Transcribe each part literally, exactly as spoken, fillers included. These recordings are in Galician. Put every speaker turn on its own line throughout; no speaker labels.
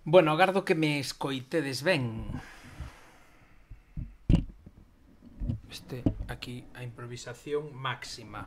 Bueno, agardo que me escoitedes ben. Este, aquí, a improvisación máxima.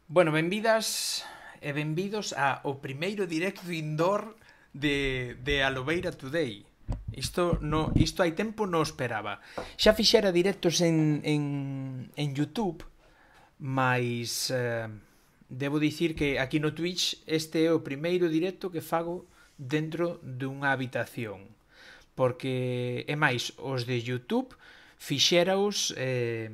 Bueno, benvidas e benvidos ao primeiro directo indoor de, de Alobeira Today. Isto, no, isto hai tempo non esperaba. Xa fixera directos en, en, en YouTube, mas eh, debo dicir que aquí no Twitch este é o primeiro directo que fago dentro dunha habitación. Porque, é máis, os de YouTube fixeraos... Eh,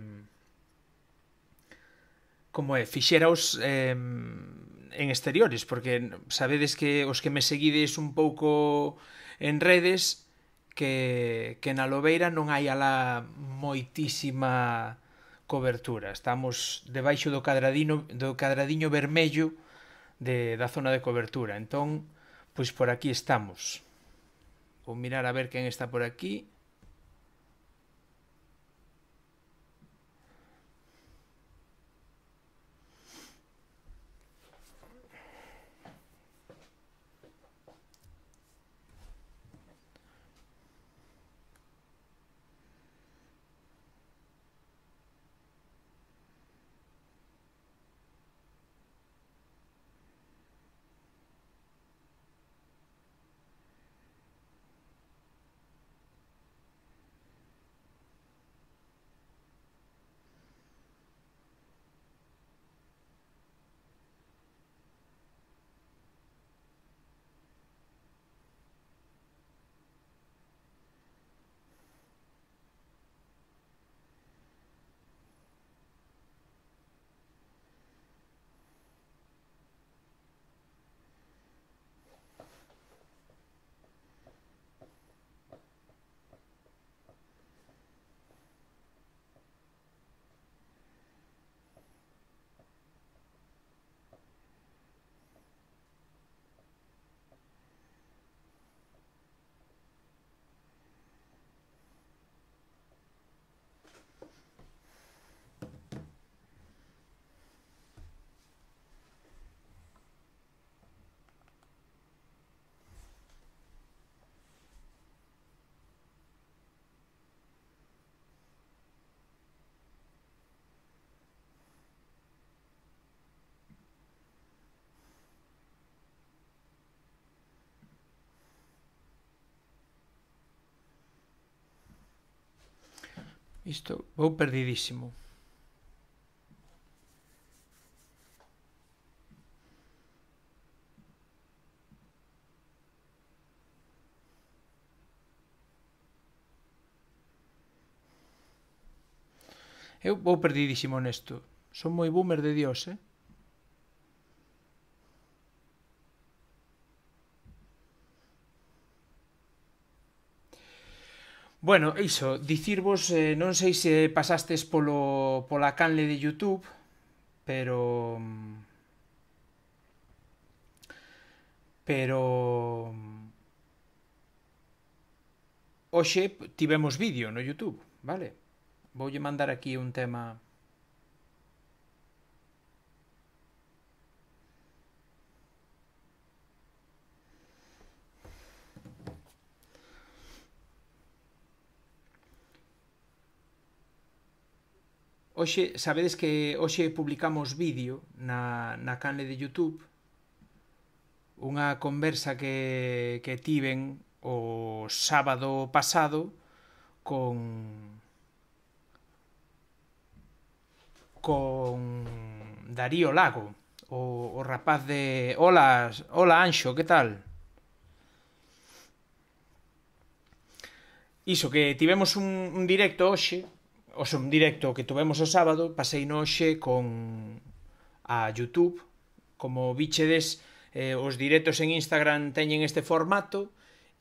como é, fixeraos eh, en exteriores, porque sabedes que os que me seguides un pouco en redes que, que na Lobeira non hai alá moitísima cobertura. Estamos debaixo do cadradiño, do cadradiño vermello de, da zona de cobertura. Entón, pois por aquí estamos. Vou mirar a ver quen está por aquí. Isto, vou perdidísimo. Eu vou perdidísimo nesto. Son moi boomer de Dios, eh? Bueno, iso, dicirvos, eh, non sei se pasastes polo, pola canle de YouTube, pero... Pero... Hoxe tivemos vídeo no YouTube, vale? Voulle mandar aquí un tema... Hoxe, sabedes que hoxe publicamos vídeo na, na canle de YouTube, unha conversa que, que tiven o sábado pasado con con Darío Lago, o, o rapaz de... Hola, hola Anxo, que tal? Iso, que tivemos un, un directo hoxe, o sea, un directo que tuvemos o sábado, pasei no hoxe con a YouTube. Como bichedes, eh, os directos en Instagram teñen este formato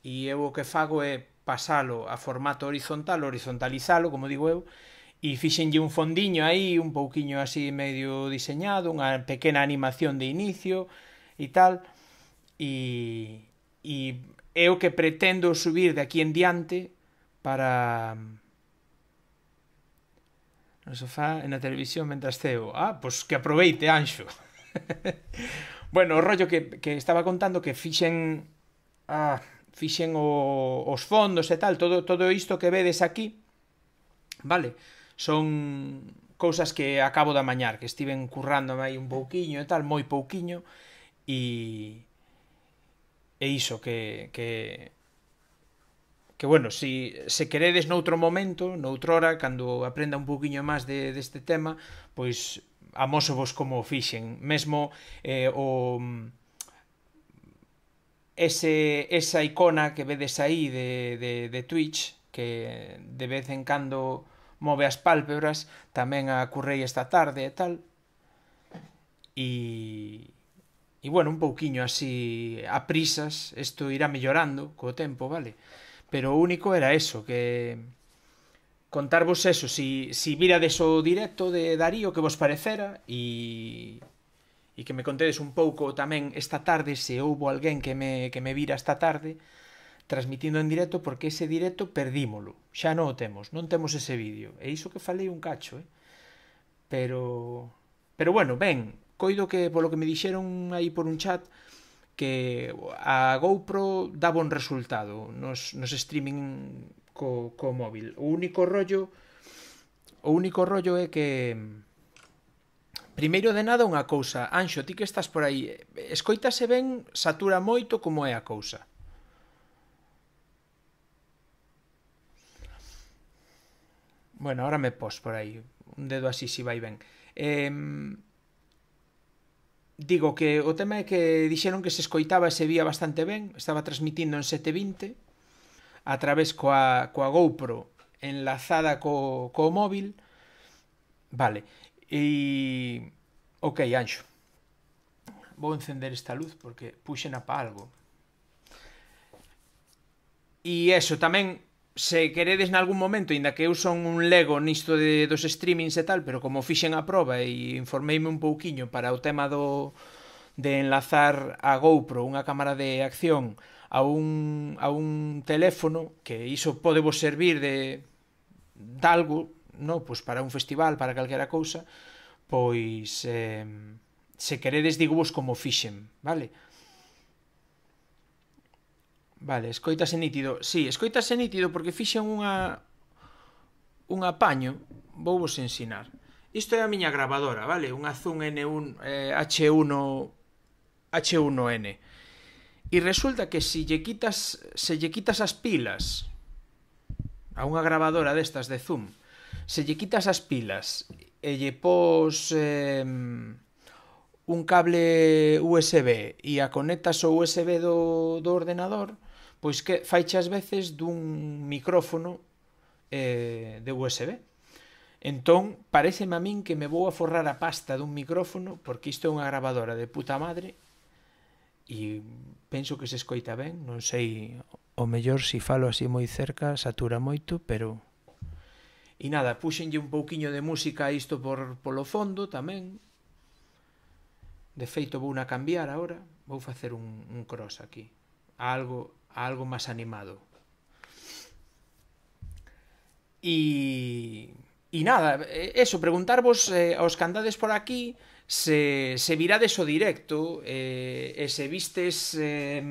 e eu o que fago é pasalo a formato horizontal, horizontalizalo, como digo eu, e fixenlle un fondiño aí, un pouquiño así medio diseñado, unha pequena animación de inicio e tal, e, e é o que pretendo subir de aquí en diante para no sofá e na televisión mentras ceo. Ah, pois que aproveite, Anxo. Bueno, o rollo que, que estaba contando que fixen ah, fixen o, os fondos e tal, todo, todo isto que vedes aquí, vale, son cousas que acabo de amañar, que estiven currándome aí un pouquiño e tal, moi pouquiño, e e iso que que que bueno, si se queredes noutro momento, noutrora, cando aprenda un pouquiño máis de, deste tema, pois amósovos como o fixen. Mesmo eh, o ese, esa icona que vedes aí de, de, de Twitch, que de vez en cando move as pálpebras, tamén a currei esta tarde e tal. E, e bueno, un pouquiño así a prisas, isto irá mellorando co tempo, vale? Pero o único era eso, que contarvos eso, si, si virades o directo de Darío que vos parecera e, e que me contedes un pouco tamén esta tarde se houbo alguén que me, que me vira esta tarde transmitindo en directo, porque ese directo perdímolo, xa non o temos, non temos ese vídeo, e iso que falei un cacho, eh? pero pero bueno, ben, coido que polo que me dixeron aí por un chat que a GoPro dá bon resultado nos, nos streaming co, co móvil. O único rollo o único rollo é que primeiro de nada unha cousa, Anxo, ti que estás por aí, escoítase ben, satura moito, como é a cousa? Bueno, ahora me pos por aí, un dedo así si vai ben. Eh, Digo que o tema é que dixeron que se escoitaba e se vía bastante ben, estaba transmitindo en sete vinte a través coa, coa GoPro enlazada co, co móvil, vale, e ok, Anxo, vou encender esta luz porque puxena pa algo. E eso, tamén, se queredes nalgún momento, inda que eu son un lego nisto de, dos streamings e tal, pero como fixen a proba e informeime un pouquiño para o tema do de enlazar a GoPro, unha cámara de acción, a un, a un teléfono, que iso pode vos servir de, de algo, no? Pois para un festival, para calquera cousa, pois eh, se queredes digo vos como fixen, vale? Vale, escoitase nítido. Si, sí, escoitase nítido porque fixen unha un apaño, vou vos ensinar. Isto é a miña grabadora, vale? Unha Zoom N uno eh, H uno H uno N. E resulta que se lle quitas se lle quitas as pilas a unha grabadora destas de Zoom, se lle quitas as pilas e lle pos eh, un cable U S B e a conectas ao U S B do, do ordenador, pois que faiche ás veces dun micrófono eh, de U S B. Entón, pareceme a min que me vou a forrar a pasta dun micrófono, porque isto é unha grabadora de puta madre, e penso que se escoita ben, non sei, o mellor se falo así moi cerca, satura moito, pero... E nada, puxenlle un pouquiño de música a isto por, polo fondo tamén. De feito, vou na cambiar agora, vou facer un, un cross aquí, a algo... a algo máis animado. E, e nada, eso, preguntarvos eh, aos que andades por aquí se, se virades o directo eh, e se vistes eh,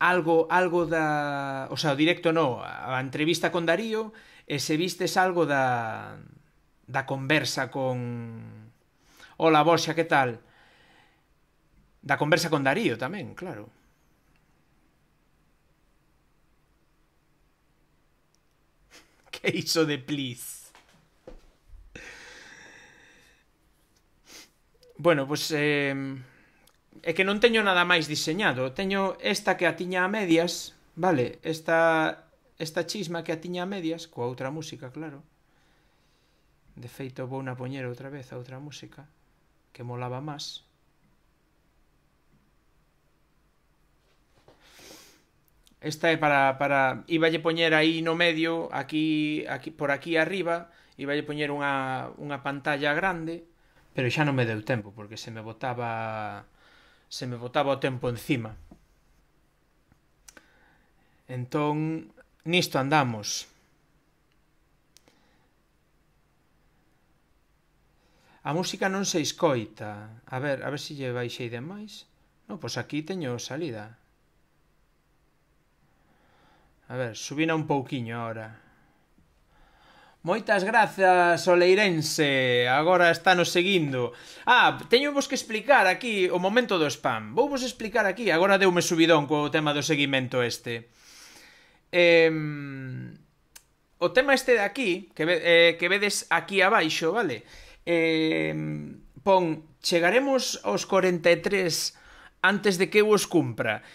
algo, algo da... O sea, o directo no, a entrevista con Darío, e se vistes algo da, da conversa con... Hola, Borxa, que tal? Da conversa con Darío tamén, claro. Que iso de please? Bueno, pois pues, eh, é que non teño nada máis diseñado. Teño esta que a tiña a medias, vale? Esta esta chisma que a tiña a medias, coa outra música, claro. De feito, vou na poñer outra vez a outra música, que molaba máis. Esta é para, para... Iballe poñer aí no medio, aquí, aquí por aquí arriba, iballe poñer unha, unha pantalla grande, pero xa non me deu tempo, porque se me botaba... Se me botaba o tempo encima. Entón, nisto andamos. A música non se escoita. A ver, a ver se lle baixei demais. Non, pois aquí teño salida. A ver, subina un pouquiño ahora. Moitas grazas, Oleirense. Agora está nos seguindo. Ah, teño vos que explicar aquí o momento do spam. Vou vos explicar aquí. Agora deume subidón co tema do seguimento este. Eh, o tema este de aquí, que, eh, que vedes aquí abaixo, vale? Eh, pon, chegaremos aos corenta e tres antes de que eu os cumpra.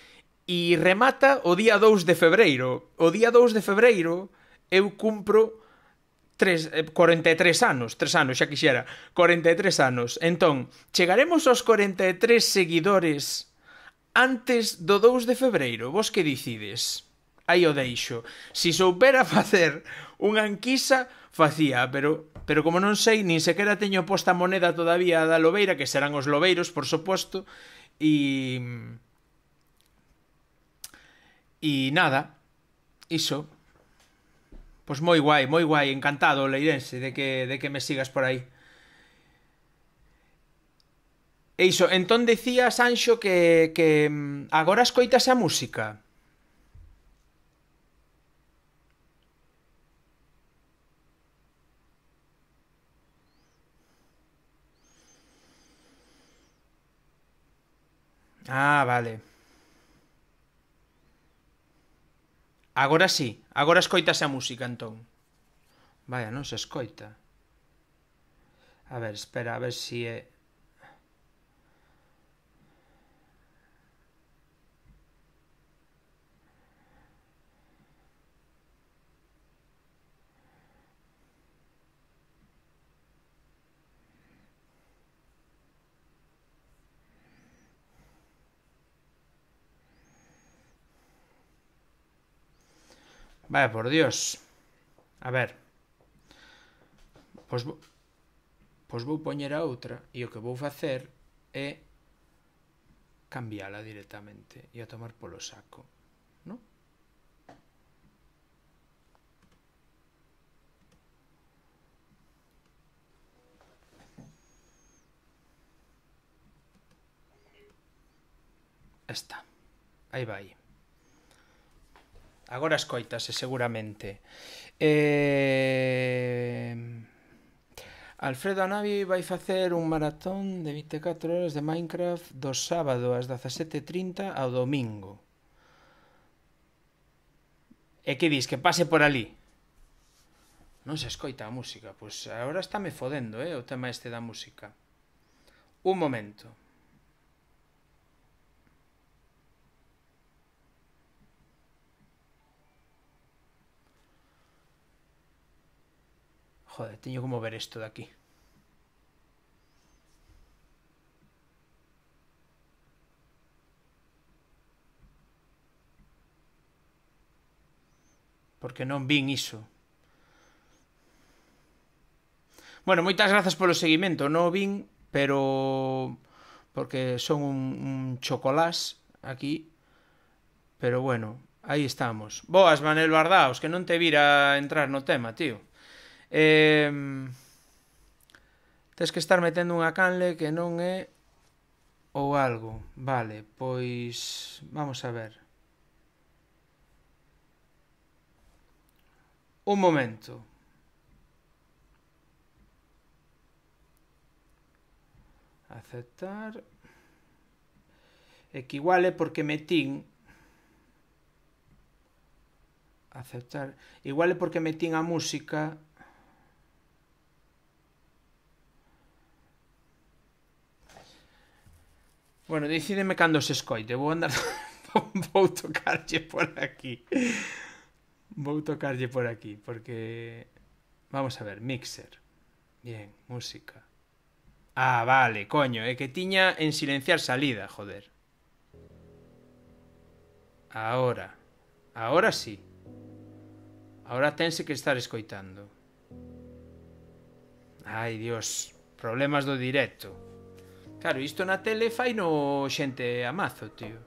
E remata o día dous de febreiro. O día dous de febreiro eu cumpro tres, corenta e tres anos. tres anos, xa quixera. corenta e tres anos. Entón, chegaremos aos corenta e tres seguidores antes do dous de febreiro. Vos que dicides? Aí o deixo. Si soupera facer unha enquisa, facía, pero pero como non sei, nin sequera teño posta moneda todavía da lobeira, que serán os lobeiros, por suposto, e... E nada, iso. Pois moi guai, moi guai, encantado, Leirense, de que, de que me sigas por aí. E iso, entón decía Sanxo que, que agora escoitas a música. Ah, vale. Agora sí, agora escoitase a música, entón. Vaya, non se escoita. A ver, espera, a ver si é... Vaya, por Dios. A ver. Pois vou, pois vou poñer a outra e o que vou facer é cambiala directamente e a tomar polo saco, non? Está. Aí vai. Agora escoitase seguramente. Eh... Alfredo Anavi vai facer un maratón de vinte e catro horas de Minecraft do sábado ás dezasete e trinta ao domingo. E que dis? Que pase por ali? Non se escoita a música. Pois agora estáme fodendo, eh, o tema este da música. Un momento. Joder, teño como ver isto de aquí. Porque non vin iso. Bueno, moitas grazas polo seguimento. Non o vin, pero... Porque son un, un chocolás aquí. Pero bueno, aí estamos. Boas, Manel Bardaos, que non te vira entrar no tema, tío. Eh, Tens que estar metendo unha canle que non é ou algo. Vale, pois vamos a ver. Un momento. Aceptar. É que igual é porque metín. Aceptar. Igual é porque metín a música. Bueno, decídeme cando se escoite. Vou andar... Vou tocarlle por aquí. Vou tocarlle por aquí, porque... Vamos a ver, mixer. Bien, música. Ah, vale, coño, é que tiña en silenciar salida, joder. Ahora. Ahora sí. Ahora tense que estar escoitando. Ai, Dios, problemas do directo. Claro, isto na tele fai no xente a mazo, tío.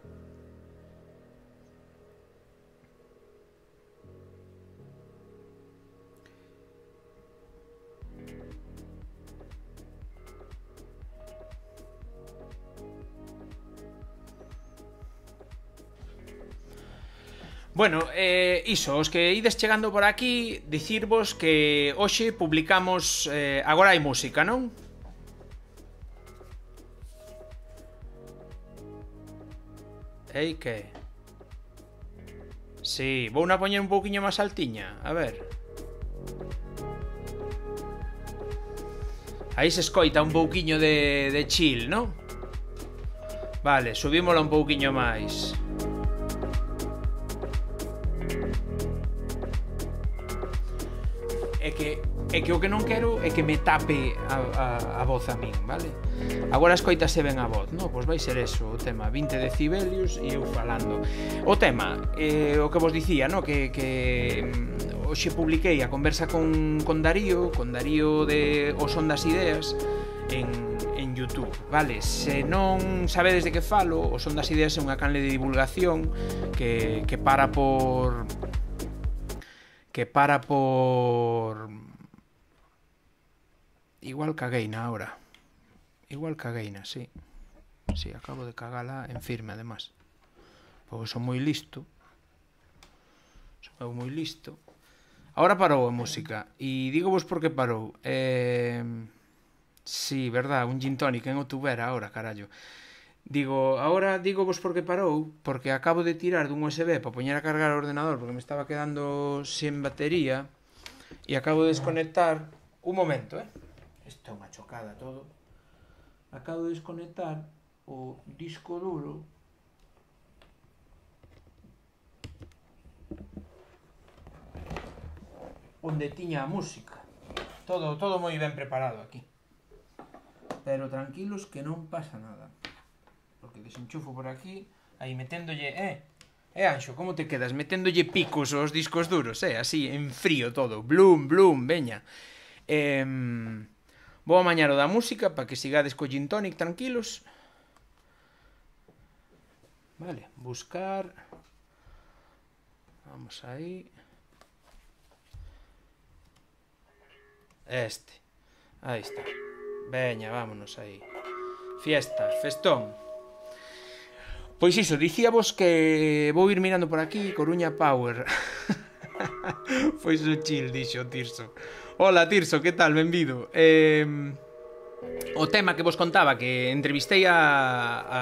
Bueno, eh, iso, os que ides chegando por aquí, dicirvos que hoxe publicamos... Eh, agora hai música, non? Ei, que? Sí, vou na poñer un pouquiño máis altiña, a ver. Aí se escoita un pouquiño de, de chill, non? Vale, subímola un pouquiño máis. É que, é que o que non quero é que me tape a, a, a voz a min, vale? Agora escoitase ben a voz, non? Pois vai ser eso, o tema, vinte decibelios e eu falando. O tema, eh, o que vos dicía, non? Que, que hoxe publiquei a conversa con, con Darío, con Darío de O Son das Ideas, en, en YouTube, vale? Se non sabedes de que falo, O Son das Ideas é unha canle de divulgación que, que para por... que para por... Igual cagueina ahora. Igual cagueina, sí. Sí, acabo de cagala en firme, además. Porque son moi listo. Son eu moi listo. Ahora parou a música. E digo vos por que parou. Eh... Sí, verdad, un gin tonic en o tubera ahora, carallo. Digo, ahora digo vos por que parou, porque acabo de tirar dun U S B para poñer a cargar o ordenador porque me estaba quedando sen batería e acabo de desconectar. Un momento, eh? Isto é unha chocada todo. Acabo de desconectar o disco duro onde tiña a música. Todo, todo moi ben preparado aquí. Pero tranquilos que non pasa nada. Porque desenchufo por aquí, aí meténdolle, eh, eh, Anxo, como te quedas? Meténdolle picos aos discos duros, eh, así, en frío todo, blum, blum, veña. Eh, vou amañar o da música para que sigades co gin tonic tranquilos. Vale, buscar. Vamos aí. Este. Aí está. Veña, vámonos aí. Fiesta, festón. Pois iso, dicíavos que vou ir mirando por aquí, Coruña Power. Pois o chill, dixo Tirso. Hola Tirso, que tal? Benvido. Eh, o tema que vos contaba, que entrevistei a, a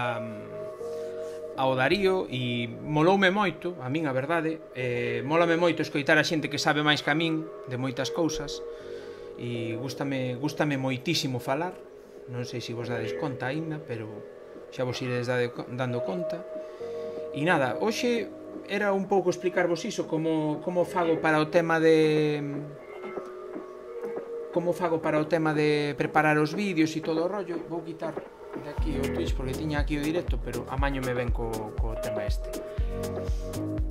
ao Darío e moloume moito, a min a verdade, eh, mólame moito escoitar a xente que sabe máis que a min de moitas cousas e gústame, gústame moitísimo falar. Non sei se vos dades conta aínda, pero xa vos iredes dando conta. E nada, hoxe era un pouco explicarvos iso, como, como fago para o tema de... Como fago para o tema de preparar os vídeos e todo o rollo. Vou quitar de aquí o Twitch porque tiña aquí o directo, pero amaño me ven co, co tema este.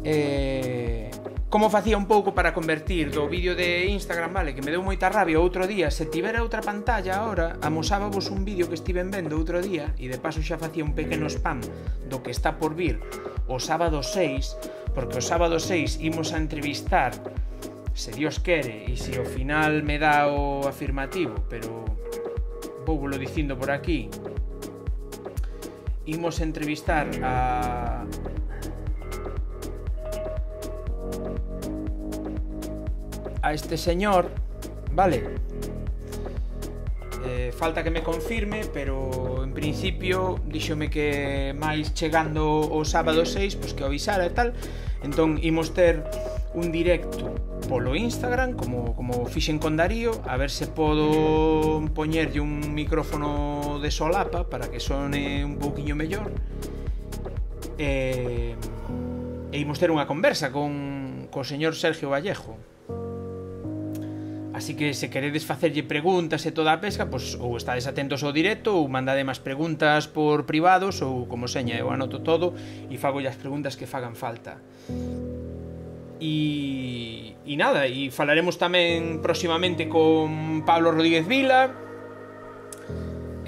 Eh... Como facía un pouco para convertir do vídeo de Instagram, vale, que me deu moita rabia outro día. Se tivera outra pantalla ahora, amosábavos un vídeo que estiven vendo outro día e de paso xa facía un pequeno spam do que está por vir o sábado seis, porque o sábado seis imos a entrevistar, se Dios quere, e se ao final me dá o afirmativo, pero vou lo dicindo por aquí, imos a entrevistar a... a este señor, vale, eh, falta que me confirme, pero en principio díxome que máis chegando o sábado seis, pois que o avisara e tal. Entón imos ter un directo polo Instagram, como, como fixen con Darío, a ver se podo poñerlle un micrófono de solapa para que sone un pouquiño mellor, e, e imos ter unha conversa con co señor Sergio Vallejo. Así que se queredes facerlle preguntas e toda a pesca, pois ou estades atentos ao directo ou mandade máis preguntas por privados ou como seña, eu anoto todo e fago as preguntas que fagan falta. E, e nada, e falaremos tamén próximamente con Pablo Rodríguez Vila.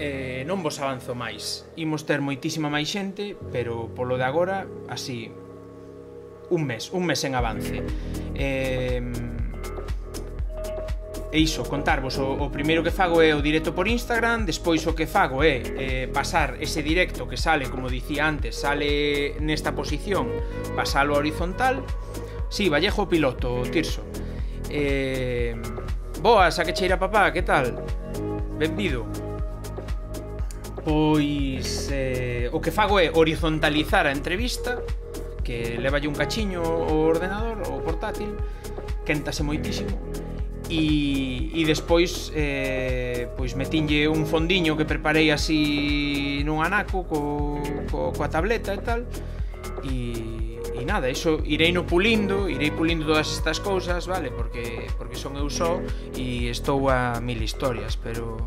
eh, Non vos avanzo máis. Imos ter moitísima máis xente, pero polo de agora, así, un mes, un mes en avance. eh, E iso, contarvos o, o primeiro que fago é o directo por Instagram. Despois o que fago é eh, pasar ese directo que sale, como dicía antes, sale nesta posición, pasalo a horizontal. Si, sí, Vallejo piloto, Tirso. eh, Boas, a que cheira papá, que tal? Benvido. Pois eh, o que fago é horizontalizar a entrevista, que levalle un cachiño o ordenador, o portátil, quéntase moitísimo. E, e despois eh, pois metinlle un fondiño que preparei así nun anaco co, co, coa tableta e tal. E, e nada, iso irei no pulindo, irei pulindo todas estas cousas, vale? Porque, porque son eu só e estou a mil historias, pero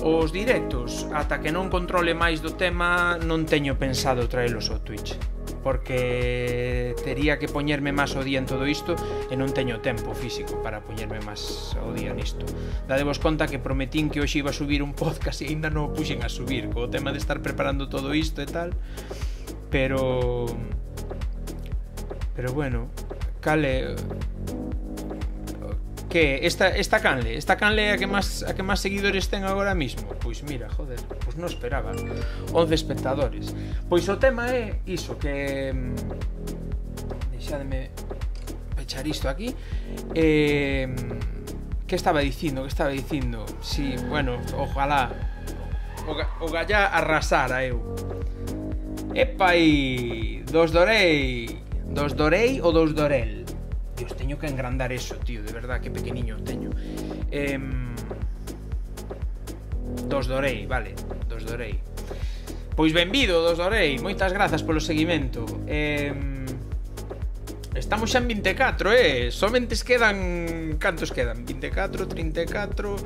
os directos, ata que non controle máis do tema, non teño pensado traelos ao Twitch, porque tería que poñerme máis ao día en todo isto e non teño tempo físico para poñerme máis ao día nisto. Dadevos conta que prometín que hoxe iba a subir un podcast e ainda non o puxen a subir, co tema de estar preparando todo isto e tal. Pero pero bueno, cale que esta esta canle, esta canle a que máis a que máis seguidores ten agora mismo. Pois mira, joder, pois non esperaba. once espectadores. Pois o tema é iso, que deixademe pechar isto aquí. Eh, que estaba dicindo, que estaba dicindo? Si, sí, bueno, ojalá o, o gallá arrasara eu. Epa aí, dos dorei, dos dorei ou dos dorel? Dios, teño que engrandar eso, tío, de verdad, que pequeniño teño. eh, Dos dorei, vale, dos dorei. Pois benvido, dos dorei, moitas grazas polo seguimento. eh, Estamos xa en vinte e catro, eh Somente quedan, cantos quedan? vinte e catro, trinta e catro,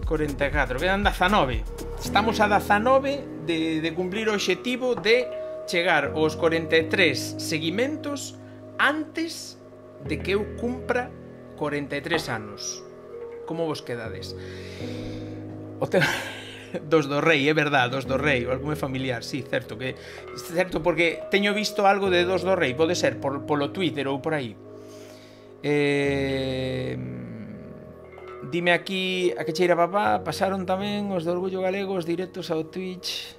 cuarenta e catro, quedan dezanove. Estamos a dezanove de, de cumplir o obxectivo de chegar aos cuarenta e tres seguimentos antes de que eu cumpra cuarenta e tres anos. Como vos quedades? O te... Dos do rei, é verdad, dos do rei, o algo é familiar, sí, certo, que certo, porque teño visto algo de dos do rei, pode ser por, polo Twitter ou por aí. Eh... Dime aquí a que cheira papá, pasaron tamén os do Orgullo Galego os directos ao Twitch.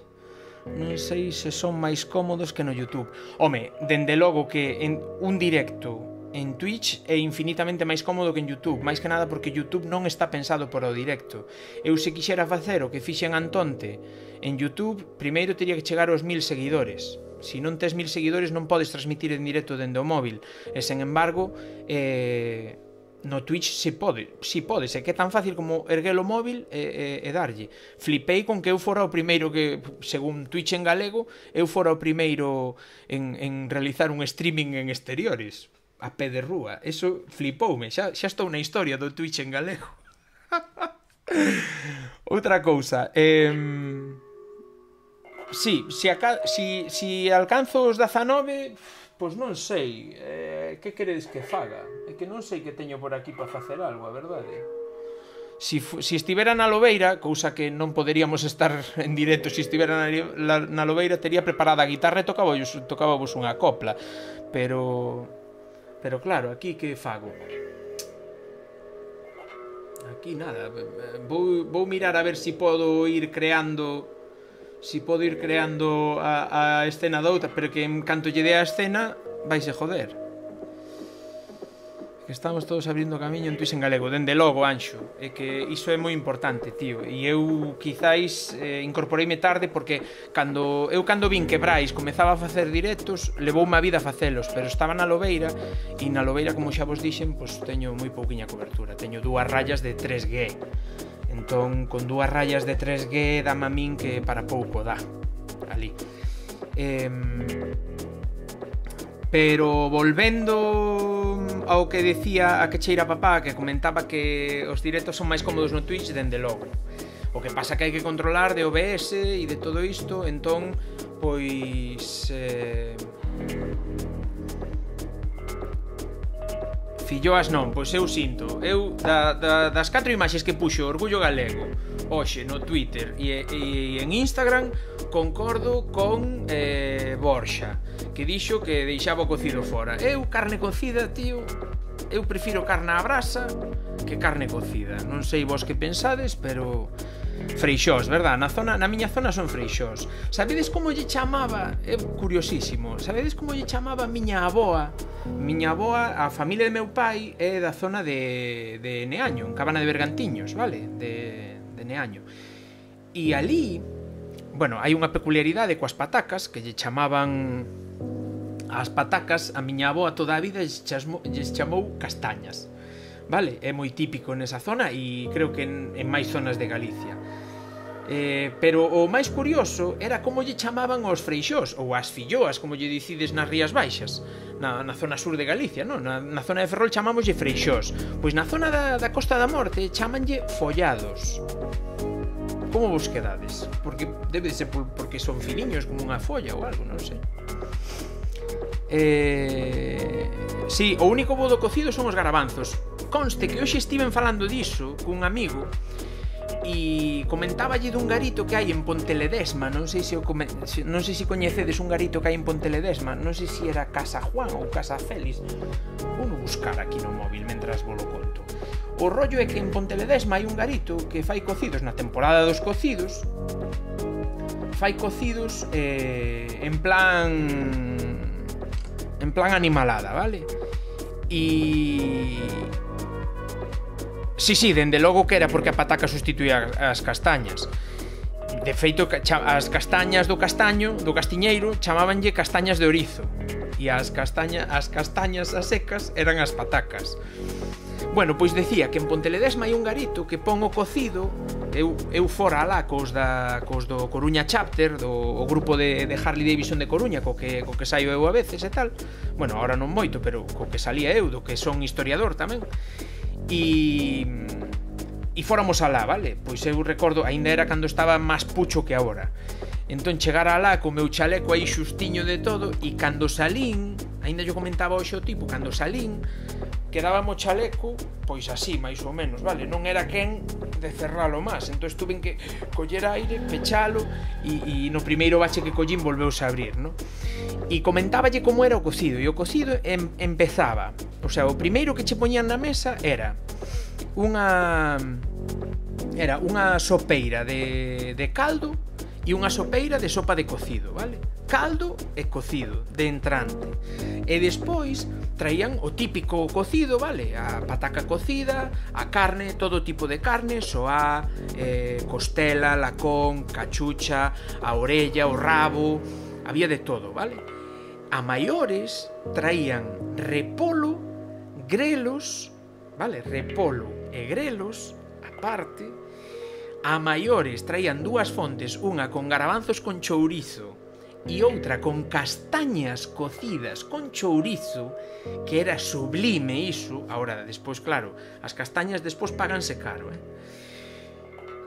Non sei se son máis cómodos que no YouTube. Home, dende logo que en un directo en Twitch é infinitamente máis cómodo que en YouTube, máis que nada porque YouTube non está pensado para o directo. Eu se quixera facer o que fixen Antonte en YouTube, primeiro teria que chegar aos mil seguidores. Se non tes mil seguidores non podes transmitir en directo dende o móvil. E sen embargo, eh, no Twitch si pode, si pode, se que é tan fácil como erguer o móvil e, e, e darlle. Flipei con que eu fora o primeiro que, según Twitch en galego, eu fora o primeiro en, en realizar un streaming en exteriores a pé de rúa. Eso flipoume, xa, xa estou na historia do Twitch en galego. Outra cousa, eh, si, si, aca, si, si alcanzo os dezanove, pois non sei, eh, que queredes que faga? É que non sei que teño por aquí para facer algo, a verdade. Si, si estivera na Lobeira, cousa que non poderíamos estar en directo, se estivera na, na Lobeira tería preparada a guitarra e tocábamos, tocábamos unha copla, pero... Pero claro, aquí que fago? Aquí nada, vou, vou mirar a ver se si podo ir creando, si podo ir creando a, a escena doutra, pero que en canto lle dé a escena vaise joder. Que estamos todos abrindo camiño en Twitch en galego, dende logo, Anxo, é que iso é moi importante, tío. E eu quizáis eh, incorporeime tarde porque cando eu cando vin que Brais comezaba a facer directos, levoume a vida a facelos, pero estaba na Lobeira e na Lobeira, como xa vos dixen, pois teño moi pouquiña cobertura, teño dúas rayas de tres G. Entón, con dúas rayas de tres G dame a min que para pouco dá ali. Eh, pero volvendo ao que decía a que cheira papá, que comentaba que os directos son máis cómodos no Twitch, dende logo. O que pasa que hai que controlar de O B S e de todo isto, entón, pois... Eh, filloas non, pois eu sinto. Eu, da, da, das catro imaxes que puxo Orgullo Galego hoxe no Twitter e, e en Instagram, concordo con eh, Borxa, que dixo que deixaba o cocido fora. Eu, carne cocida, tío, eu prefiro carne á brasa que carne cocida. Non sei vos que pensades, pero... Freixós, verdad? Na zona, na miña zona son freixós. Sabedes como lle chamaba? É curiosísimo. Sabedes como lle chamaba a miña aboa? Miña aboa, a familia de meu pai é da zona de, de Neaño, en Cabana de Bergantiños, vale? De, de Neaño. E ali, bueno, hai unha peculiaridade coas patacas, que lle chamaban as patacas, a miña aboa toda a vida lle chamou castañas. Vale, é moi típico nesa zona e creo que en, en máis zonas de Galicia. Eh, pero o máis curioso era como lle chamaban aos freixós ou as filloas, como lle dicides nas Rías Baixas, na, na zona sur de Galicia, non? Na, na zona de Ferrol chamámoslle freixós. Pois na zona da, da Costa da Morte chamanlle follados. Como vos quedades? Porque debe de ser por, porque son finiños como unha folla ou algo, non sei. Eh... Sí, o único bo do cocido son os garabanzos. Conste que hoxe estiven falando diso cun amigo e comentáballe dun garito que hai en Ponteledesma, non sei se o come... non sei se coñecedes un garito que hai en Ponteledesma, non sei se era Casa Juan ou Casa Félix. Vou buscar aquí no móvil mentras vos lo conto. O rollo é que en Ponteledesma hai un garito que fai cocidos na temporada dos cocidos. Fai cocidos eh, en plan en plan animalada, vale? E... Sí, sí, dende logo que era porque a pataca sustituía as castañas. De feito, as castañas do castaño, do castiñeiro, chamábanlle castañas de orizo. E as castañas, as castañas as secas eran as patacas. Bueno, pois decía que en Ponteledesma hai un garito que pon o cocido. Eu, eu fora alá cos, da, cos do Coruña Chapter, do o grupo de, de Harley Davidson de Coruña, co que, co que saio eu a veces e tal. Bueno, ahora non moito, pero co que salía eu, do que son historiador tamén. E... e fóramos alá, vale? Pois eu recordo, aínda era cando estaba máis pucho que agora. Entón chegara alá co meu chaleco aí xustiño de todo, e cando salín, aínda yo comentaba hoxe o tipo, cando salín quedábamos chaleco, pois así, máis ou menos, vale? Non era quen de cerralo máis, entón estuve en que coller aire, pechalo, e, e no primeiro bache que collín volveuse a abrir, non? E comentáballe como era o cocido, e o cocido em, empezaba, o sea, o primeiro que che poñían na mesa era unha era unha sopeira de, de caldo e unha sopeira de sopa de cocido, vale? Caldo e cocido, de entrante. E despois traían o típico cocido, vale? A pataca cocida, a carne, todo tipo de carne, soá, eh, costela, lacón, cachucha, a orella, o rabo, había de todo, vale? A maiores traían repolo, grelos, vale? Repolo e grelos, aparte. A maiores traían dúas fontes, unha con garabanzos con chourizo e outra con castañas cocidas con chourizo, que era sublime iso. Ahora, despois, claro, as castañas despois páganse caro, eh?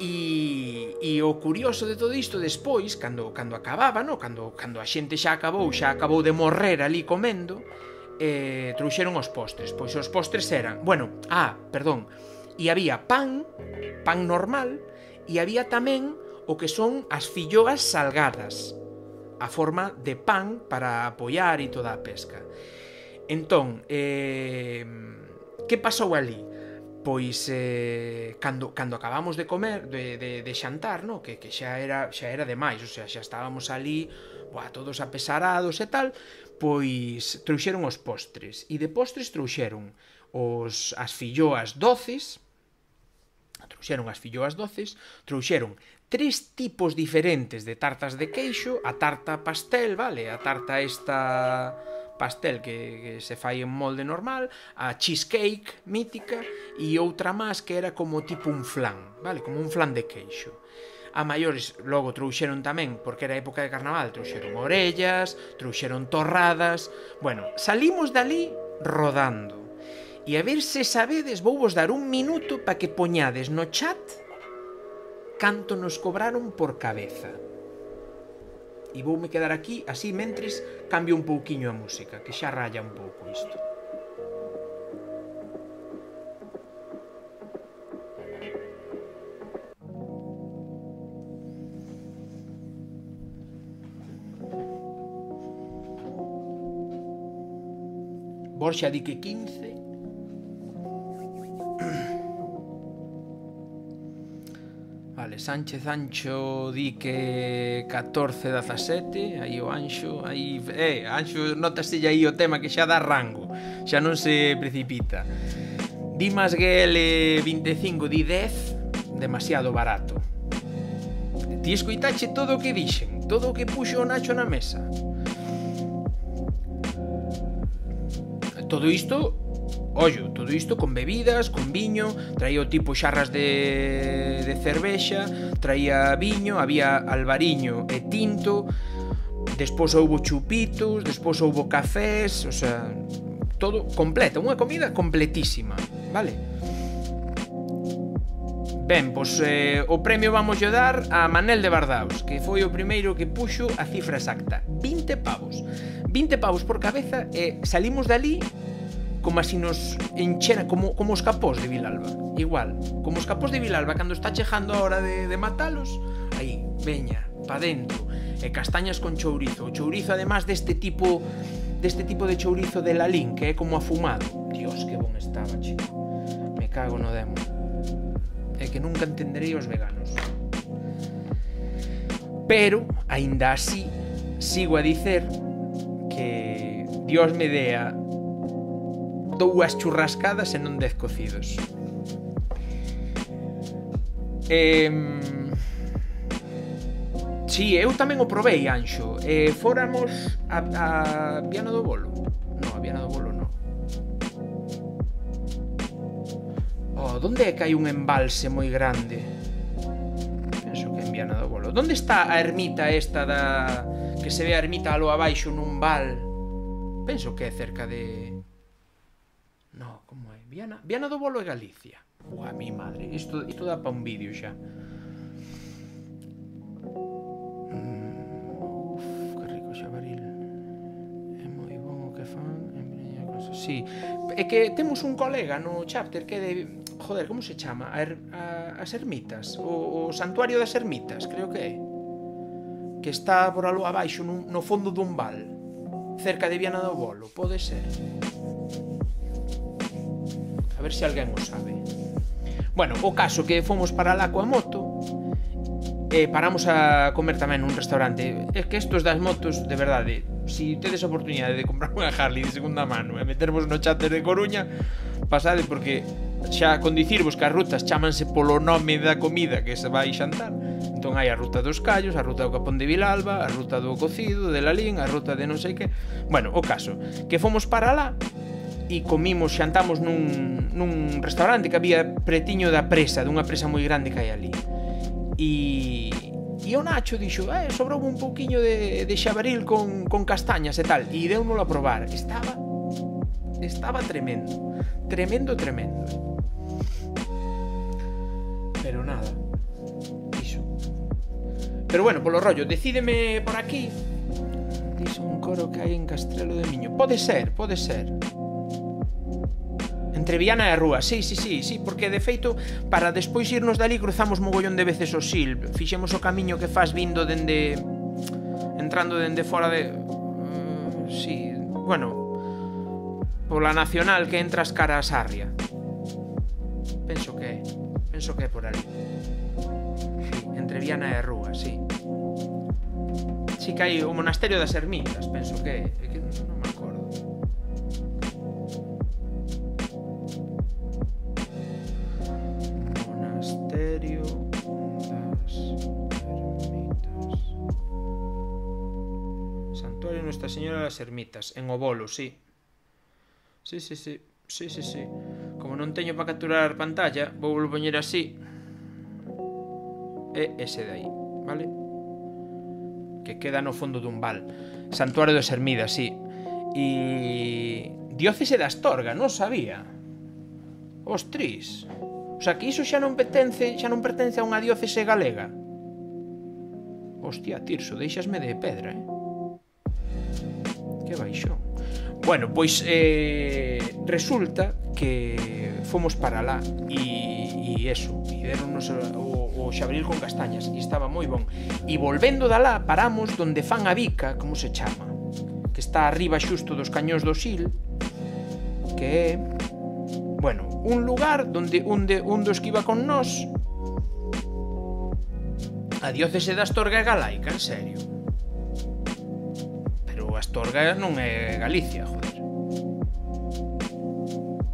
E, e o curioso de todo isto, despois, cando, cando acababa, no? cando, cando a xente xa acabou, xa acabou de morrer ali comendo, eh, trouxeron os postres. Pois os postres eran, bueno, ah, perdón, e había pan, pan normal, e había tamén o que son as filloas salgadas, a forma de pan para apoiar e toda a pesca. Entón, eh, que pasou ali? Pois eh, cando, cando acabamos de comer, de, de, de xantar, no? que, que xa era xa era demais, o sea, xa estábamos ali, buah, todos apesarados e tal, pois trouxeron os postres, e de postres trouxeron os, as filloas doces, trouxeron as filloas doces, trouxeron tres tipos diferentes de tartas de queixo, a tarta pastel, vale, a tarta esta pastel que, que se fai en molde normal, a cheesecake mítica e outra máis que era como tipo un flan, vale, como un flan de queixo. A maiores logo trouxeron tamén, porque era época de carnaval, trouxeron orellas, trouxeron torradas. Bueno, salimos dali rodando. E a ver se sabedes, vou vos dar un minuto para que poñades no chat canto nos cobraron por cabeza. E voume quedar aquí, así mentres cambio un pouquiño a música, que xa raya un pouco isto. Borxa di que quince. Vale, Sánchez Ancho di que catorce dezasete. Aí o Anxo, aí, eh, Anxo notase aí o tema que xa dá rango, xa non se precipita. Dimas G L vinte e cinco di dez, demasiado barato. Ti escoitache todo o que dixen, todo o que puxo o Nacho na mesa. Todo isto, ollo, todo isto con bebidas, con viño, traía o tipo xarras de, de cervexa, traía viño, había albariño e tinto, despois houbo chupitos, despois houbo cafés, o sea, todo completa, unha comida completísima, vale? Ben, pois eh, o premio vamos a dar a Manel de Bardaos, que foi o primeiro que puxo a cifra exacta, vinte pavos. vinte pavos por cabeza e salimos dali como así nos enchera, como, como os capós de Vilalba, igual, como os capós de Vilalba cando está chegando a hora de, de matalos, aí, veña, pa dentro, e castañas con chourizo, o chourizo además deste tipo deste tipo de chourizo de Lalín, que é como afumado. Dios, que bon estaba, chico, me cago no demo, é que nunca entenderei os veganos, pero, aínda así, sigo a dicer que Dios me dea dúas churrascadas e non dez cocidos. Eh, si, eu tamén o provei, Anxo. Eh, fóramos a, a Viana do Bolo. Non, a Viana do Bolo non. Oh, donde é que hai un embalse moi grande? Penso que en Viana do Bolo. Donde está a ermita esta da... que se ve a ermita alo abaixo nun val? Penso que é cerca de... No, como é? Viana, Viana do Bolo é Galicia. Ua, mi madre, isto, isto dá pa un vídeo xa. Mm, uf, que rico xabaril. É moi bon o que fan. Sí, é que temos un colega no chapter que é de... Joder, como se chama? A, er, a, as ermitas, o, o santuario das ermitas, creo que é, que está por algo abaixo no, no fondo dun val, cerca de Viana do Bolo, pode ser. A ver se alguén o sabe. Bueno, o caso que fomos para lá coa moto e paramos a comer tamén nun restaurante. É que estos das motos, de verdade, si tedes a oportunidade de comprar unha Harley de segunda mano e metervos no chat de Coruña, pasade, porque xa con dicirvos que as rutas chámanse polo nome da comida que se vai xantar. Entón hai a ruta dos callos, a ruta do Capón de Vilalba, a ruta do cocido, de Lalín, a ruta de non sei que. Bueno, o caso, que fomos para lá e comimos, xantamos nun, nun restaurante que había pretiño da presa, dunha presa moi grande que hai ali. E, e o Nacho dixo, eh, sobrou un pouquiño de, de xabaril con, con castañas e tal, e deu-nolo a probar. Estaba, estaba tremendo, tremendo, tremendo. Pero nada, iso. Pero bueno, polo rollo, decídeme por aquí. Dice un coro que hai en Castrelo de Miño. Pode ser, pode ser. Entre Viana e a Rúa, sí, sí, sí, sí, porque de feito, para despois irnos dali cruzamos mogollón de veces o Sil, fixemos o camiño que faz vindo dende... entrando dende fora de... Uh, sí, bueno, pola Nacional que entras cara a Sarria. Penso que é, penso que é por ali. Sí, entre Viana e a Rúa, sí. Sí que hai o Monasterio das Ermitas, penso que é, é que non me acordo. Monasterio das Ermitas. Santuario Nuestra Señora das Ermitas, en Obolo, sí. Sí, sí, sí, sí, sí, sí. Como non teño para capturar pantalla, vou volver poñer así. E ese de aí, vale? Que queda no fondo dun val. Santuario das Ermidas, sí. E... Diócese de Astorga, non sabía. Ostris. O sea, que iso xa non pertence, xa non pertence a unha diócese galega. Hostia, Tirso, deixasme de pedra, eh? Que baixón. Bueno, pois eh, resulta que fomos para lá e, e eso, e deronnos o, o xabril con castañas e estaba moi bon. E volvendo da lá paramos donde fan a bica, como se chama, que está arriba xusto dos cañóns do Sil, que é, bueno, un lugar onde un, de, un dos que iba con nós, a diócese de Astorga é galaica, en serio. Pero Astorga non é Galicia, joder.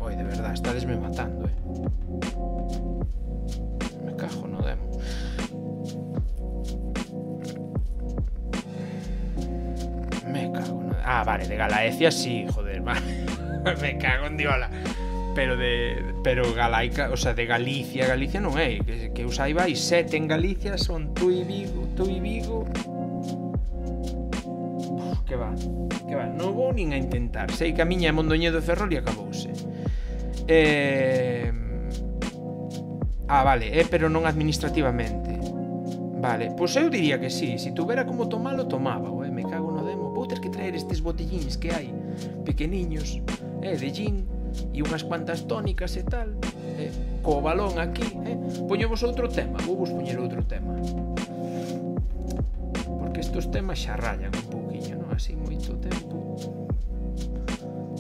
Oi, de verdad, estadesme matando, eh. Me cago no demo. Me cago no... Ah, vale, de Galaecia sí, joder, vale. Me cago en diola. Pero de... Pero galaica, o sea, de Galicia, Galicia non é. Que, que eu saiba, hai sete en Galicia, son tú e Vigo, tú e Vigo... Uf, que va, que va, non vou nin a intentar. Sei que a miña é Mondoñedo de Ferrol e acabouse. Eh... Ah, vale, eh, pero non administrativamente. Vale, pois eu diría que sí. Se tuvera como tomalo, tomaba, eh. Me cago no demo. Vou ter que traer estes botellíns que hai, pequeniños, eh, de gin e unhas cuantas tónicas e tal, eh, co balón aquí, eh. Poñemos outro tema, vou vos poñer outro tema. Porque estos temas xa rayan un pouquiño, non? Así moito tempo.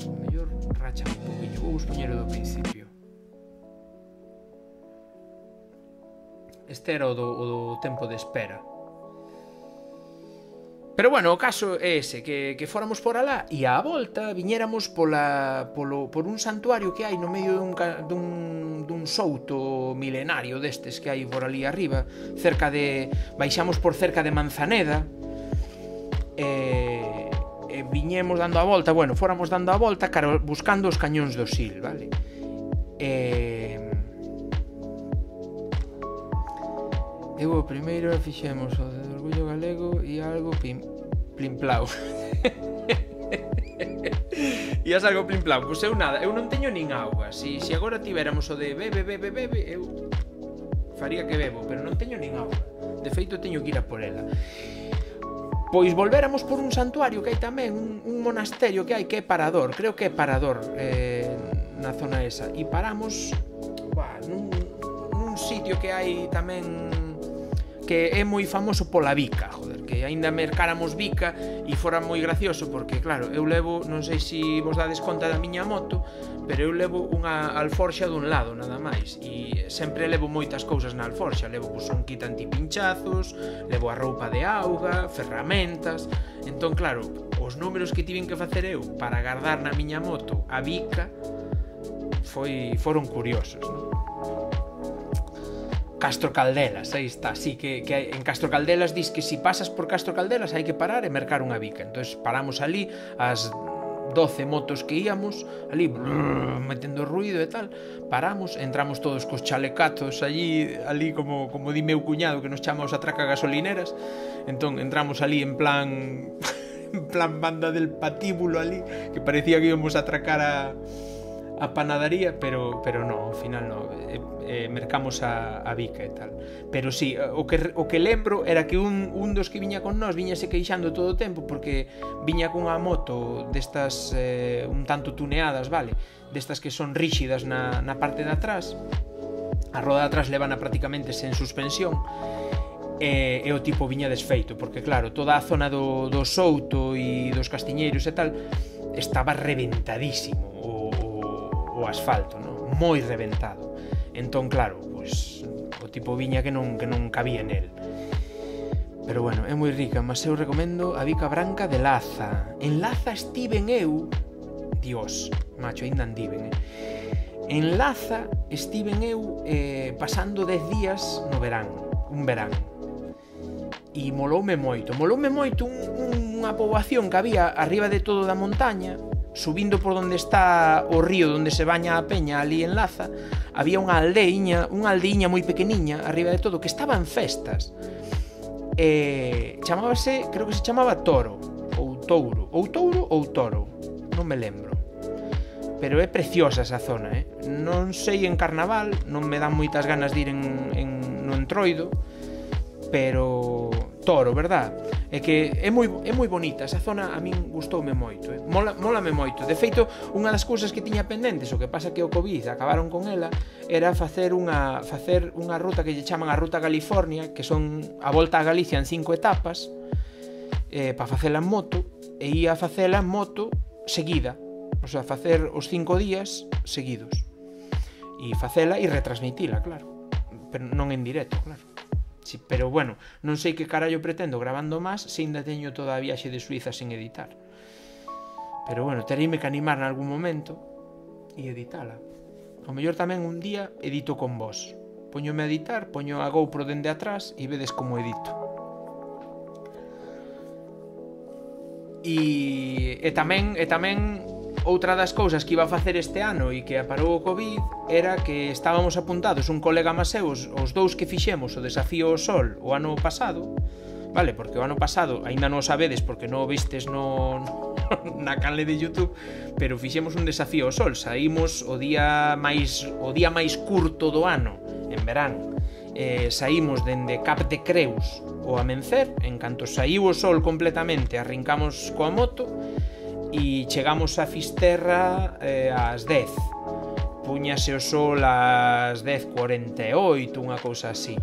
O mellor rachan un pouquiño. Vou vos poñer o do principio. Este era o do, o do tempo de espera. Pero bueno, o caso é ese, que, que fóramos por alá e á volta viñéramos pola, polo, por un santuario que hai no medio dun, dun, dun souto milenario destes que hai por ali arriba, cerca de... baixamos por cerca de Manzaneda e, e viñemos dando a volta, bueno, fóramos dando a volta cara, buscando os cañóns do Sil, vale? E... Eu o primeiro fixemos o de Orgullo Galego e algo pim, plimplau. E as algo plimplau, pois eu nada, eu non teño nin auga. Si, si agora tivéramos o de bebe, bebe, bebe, eu faría que bebo, pero non teño nin auga. De feito, teño que ir a por ela. Pois volvéramos por un santuario que hai tamén, un, un monasterio que hai que é Parador, creo que é Parador, eh, na zona esa. E paramos, buah, nun, nun sitio que hai tamén... que é moi famoso pola bica, joder, que aínda mercáramos bica e fora moi gracioso, porque claro, eu levo, non sei se vos dades conta da miña moto, pero eu levo unha alforxa dun lado, nada máis, e sempre levo moitas cousas na alforxa, levo pues, un kit antipinchazos, levo a roupa de auga, ferramentas, entón claro, os números que tiven que facer eu para guardar na miña moto a bica foi, foron curiosos, non? Castro Caldelas, aí está, sí, que, que en Castro Caldelas dis que si pasas por Castro Caldelas hai que parar e mercar unha bica. Entón paramos ali, as doce motos que íamos, ali brrr, metendo ruido e tal, paramos, entramos todos cos chalecatos allí, ali como, como di meu cuñado que nos chama os atraca gasolineras, entón entramos ali en plan en plan banda del patíbulo ali, que parecía que íbamos a atracar a a panadería, pero pero no, ao final no, eh, eh, mercamos a, a bica e tal. Pero sí, o que o que lembro era que un, un dos que viña con nós viñase queixando todo o tempo porque viña cunha moto destas eh, un tanto tuneadas, vale? Destas que son ríxidas na, na parte de atrás. A roda de atrás levana prácticamente sen suspensión. E, e o tipo viña desfeito, porque claro, toda a zona do, do Souto e dos Castiñeiros e tal estaba reventadísimo o o asfalto, no? Moi reventado. Entón, claro, pois o tipo viña que non que non cabía nel. Pero bueno, é moi rica, mas eu recomendo a bica branca de Laza. En Laza estiven eu, Dios, macho, ainda andiven, eh. En Laza estiven eu eh, pasando dez días no verán, un verán. E moloume moito, moloume moito un, unha poboación que había arriba de todo da montaña, subindo por onde está o río onde se baña a peña ali en Laza, había unha aldeiña, unha aldeiña moi pequeniña arriba de todo que estaba en festas. Eh, chamábase, creo que se chamaba Toro ou Touro, ou Touro ou Toro, non me lembro. Pero é preciosa esa zona, eh. Non sei en carnaval, non me dan moitas ganas de ir en, en no Entroido, pero Toro, verdad? É que é moi, é moi bonita, esa zona a min gustoume moito, eh? Mola, molame moito. De feito, unha das cousas que tiña pendentes, o que pasa que o Covid acabaron con ela, era facer unha facer unha ruta que lle chaman a Ruta California, que son a volta a Galicia en cinco etapas, eh, para facela en moto, e ia facela en moto seguida, O sea, facer os cinco días seguidos. E facela e retransmitila, claro. Pero non en directo, claro. Sí, pero bueno, non sei que carallo pretendo grabando máis se ainda teño toda a viaxe de Suiza sen editar. Pero bueno, tereime que animar en algún momento e editala. O mellor tamén un día edito con vos. Poñome a editar, poño a GoPro dende atrás e vedes como edito. E, e tamén e tamén outra das cousas que iba a facer este ano e que aparou o Covid era que estábamos apuntados un colega máis eu, os, os dous que fixemos o desafío ao sol o ano pasado, vale, porque o ano pasado aínda non o sabedes porque non o vistes no, no, na canle de YouTube, pero fixemos un desafío ao sol, saímos o día máis o día máis curto do ano, en verán. Eh, saímos dende Cap de Creus o amencer, en canto saíu o sol completamente, arrincamos coa moto e chegamos a Fisterra eh, ás dez. Puñase o sol ás dez cuarenta e oito, unha cousa así,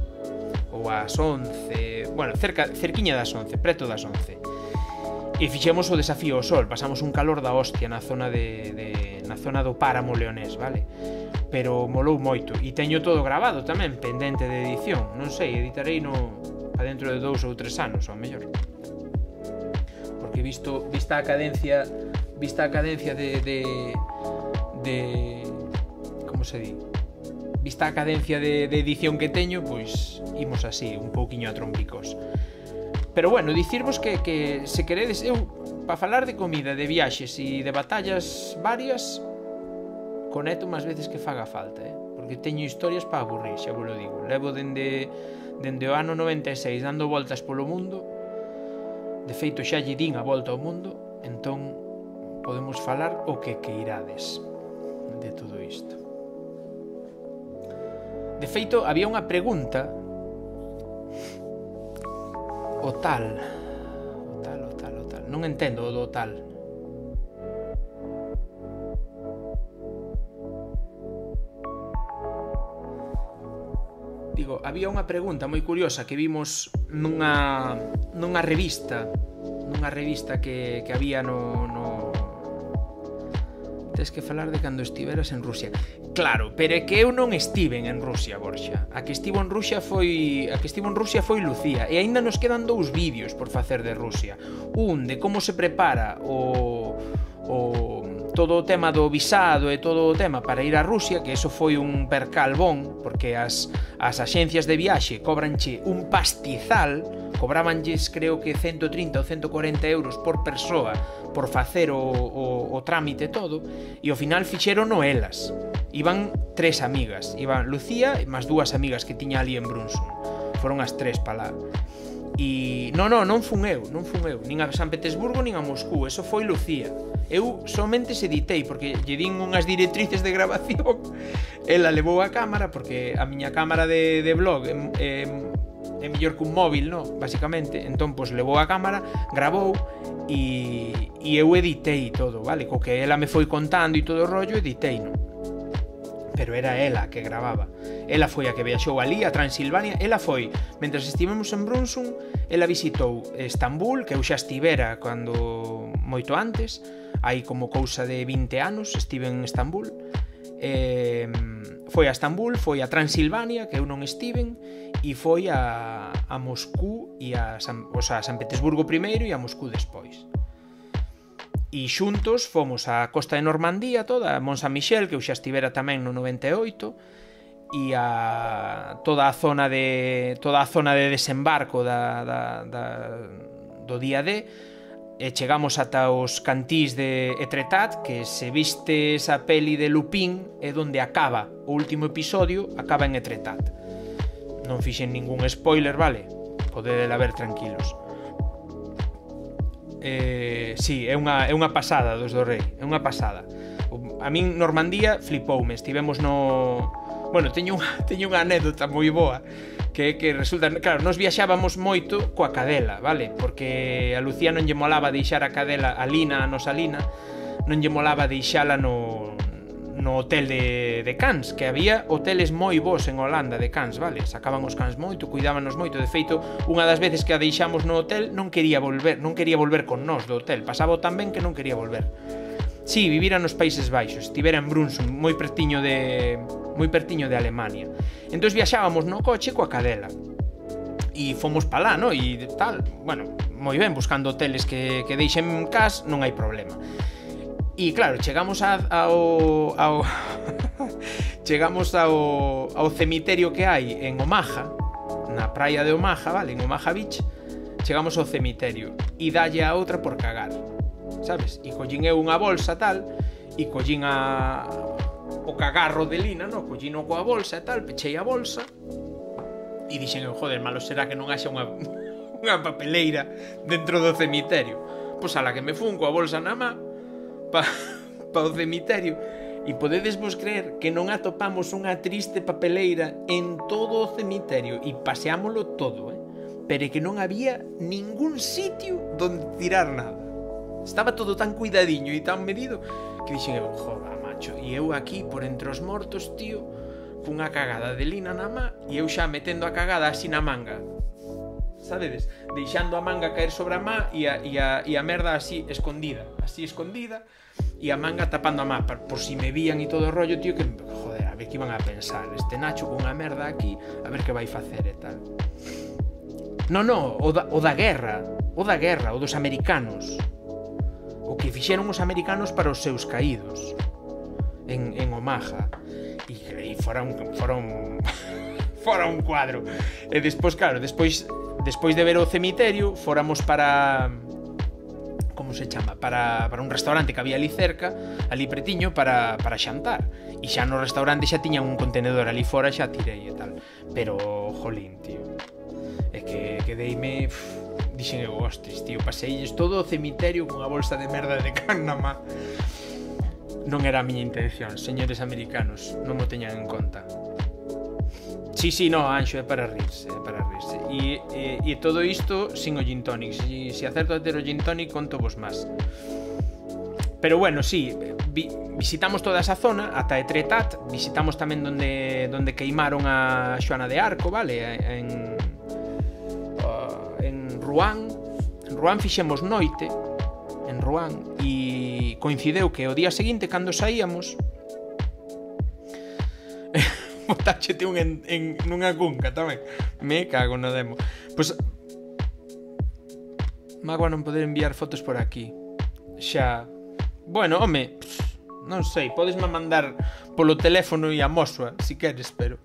ou ás once, bueno, cerca, cerquiña das once, preto das once. E fixemos o desafío ao sol, pasamos un calor da hostia na zona de, de na zona do Páramo Leonés, vale? Pero molou moito e teño todo grabado tamén, pendente de edición. Non sei, editarei no a dentro de dous ou tres anos, ao mellor. Porque visto vista a cadencia, vista a cadencia de de de como se di? Vista a cadencia de, de edición que teño, pois imos así, un pouquiño a trompicos. Pero bueno, dicirvos que, que se queredes, eu, para falar de comida, de viaxes e de batallas varias, conecto máis veces que faga falta, eh? Porque teño historias para aburrir, xa vos lo digo. Levo dende, dende o ano noventa e seis dando voltas polo mundo, de feito xa lle din a volta ao mundo, entón podemos falar o que queirades de todo isto. De feito, había unha pregunta, o tal, o tal, o tal, o tal, non entendo o do tal. Digo, había unha pregunta moi curiosa que vimos nunha nunha revista, nunha revista que, que había no, no... Tes que falar de cando estiveras en Rusia. Claro, pero é que eu non estiven en Rusia, Borxa. A que estivo en Rusia foi a que estivo en Rusia foi Lucía e aínda nos quedan dous vídeos por facer de Rusia. Un de como se prepara o o todo o tema do visado e todo o tema para ir a Rusia, que eso foi un percal bon, porque as, as axencias de viaxe cobranche un pastizal, cobrabanlles creo que ciento trinta ou ciento cuarenta euros por persoa por facer o, o, o trámite todo, e ao final fixerono elas. Iban tres amigas, iban Lucía e máis dúas amigas que tiña ali en Brunson. Foron as tres para lá. E non, non, non fun eu, non fun eu, nin a San Petersburgo nin a Moscú, eso foi Lucía. Eu somente se editei porque lle din unhas directrices de grabación. Ela levou a cámara porque a miña cámara de, de blog é, é, é mellor que un móvil, no? Basicamente. Entón, pois levou a cámara, grabou e, e eu editei todo, vale? Co que ela me foi contando e todo o rollo, editei, non? Pero era ela que grababa. Ela foi a que viaxou ali a Transilvania. Ela foi, mentras estivemos en Brunson, ela visitou Estambul, que eu xa estivera cando moito antes, hai como cousa de vinte anos estive en Estambul. Eh, foi a Estambul, foi a Transilvania, que eu non estiven, e foi a, a Moscú e a San, o sea, a San Petersburgo primeiro e a Moscú despois. E xuntos fomos á costa de Normandía toda, a Mont Saint-Michel, que eu xa estivera tamén no noventa e oito, e a toda a zona de toda a zona de desembarco da, da, da, do día D, e chegamos ata os cantís de Etretat, que se viste esa peli de Lupin é onde acaba o último episodio, acaba en Etretat. Non fixen ningún spoiler, vale? Podedela ver tranquilos. Eh, sí, é unha, é unha pasada dos do Rei, é unha pasada. A min Normandía flipoume, estivemos no... Bueno, teño unha, teño unha anécdota moi boa, que que resulta, claro, nos viaxábamos moito coa cadela, vale? Porque a Lucía non lle molaba deixar a cadela, a Lina, a nosa Lina, non lle molaba deixala no no hotel de, de cans, que había hoteles moi bons en Holanda de cans, vale? Sacaban os cans moito, cuidábanos moito. De feito, unha das veces que a deixamos no hotel non quería volver, non quería volver con nós do hotel, pasaba tan ben que non quería volver. Si, sí, vivira nos Países Baixos, estivera en Brunson, moi pertiño de moi pertiño de Alemania. Entón viaxábamos no coche coa cadela. E fomos pa lá, no? E tal, bueno, moi ben, buscando hoteles que, que deixen cas, non hai problema. E claro, chegamos a, ao, ao chegamos ao, ao cemiterio que hai en Omaha, na praia de Omaha, vale, en Omaha Beach. Chegamos ao cemiterio e dalle a outra por cagar, sabes? E collín eu unha bolsa tal, e collín a o cagarro de lina, no? Collín coa bolsa e tal, pechei a bolsa e dixen eu, joder, malo será que non haxa unha unha papeleira dentro do cemiterio. Pois ala que me fun coa bolsa na má pa, pa o cemiterio. E podedes vos creer que non atopamos unha triste papeleira en todo o cemiterio e paseámolo todo, eh? Pero que non había ningún sitio donde tirar nada. Estaba todo tan cuidadiño e tan medido que dixen eu, joder, macho, e eu aquí por entre os mortos, tío, cunha cagada de lina na má e eu xa metendo a cagada así na manga, sabedes? Deixando a manga caer sobre a má e a, e a, e a merda así escondida, así escondida, e a manga tapando a má por si me vían e todo o rollo, tío, que, joder, a ver que iban a pensar este Nacho con unha merda aquí, a ver que vai facer e tal. No, no, o da, o da guerra, o da guerra, o dos americanos, o que fixeron os americanos para os seus caídos en, en Omaha. E, e fora un, fora un fora un cuadro. E despois, claro, despois despois de ver o cemiterio, fóramos para, como se chama, para, para un restaurante que había ali cerca, ali pretiño, para, para xantar. E xa no restaurante xa tiñan un contenedor ali fora, xa tirei e tal. Pero, jolín, tío, é que quedeime, dixen eu, hostis, tío, paseilles todo o cemiterio con a bolsa de merda de can na má. Non era a miña intención, señores americanos, non mo teñan en conta. Sí, sí, no, Anxo, é para rirse, é para rirse. E, e, e todo isto sin o gin tonic. Se, se acerto a ter o gin tonic, conto vos máis. Pero bueno, sí, vi, visitamos toda esa zona, ata Etretat, visitamos tamén donde, donde queimaron a Xoana de Arco, vale? En, uh, en Rouen. En Rouen fixemos noite, en Rouen, e coincideu que o día seguinte, cando saíamos, botáchete un en, en nunha cunca tamén. Me cago no demo. Pois magua non poder enviar fotos por aquí. Xa, bueno, home, non sei, podesme mandar polo teléfono e a mosua, si queres, pero